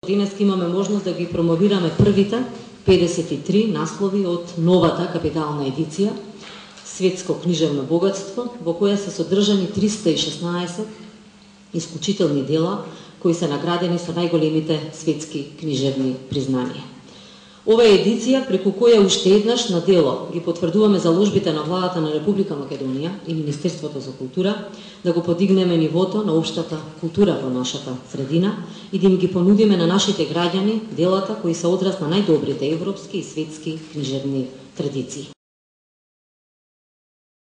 Денеска имаме можност да ги промовираме првите 53 наслови од новата капитална едиција Светско книжевно богатство, во која се содржани 316 исклучителни дела кои се наградени со најголемите светски книжевни признанија. Ова е едиција преку која уште еднаш на дело ги потврдуваме заложбите на владата на Република Македонија и Министерството за култура да го подигнеме нивото на општата култура во нашата средина и да им ги понудиме на нашите граѓани делата кои се одраз на најдобрите европски и светски книжевни традиции.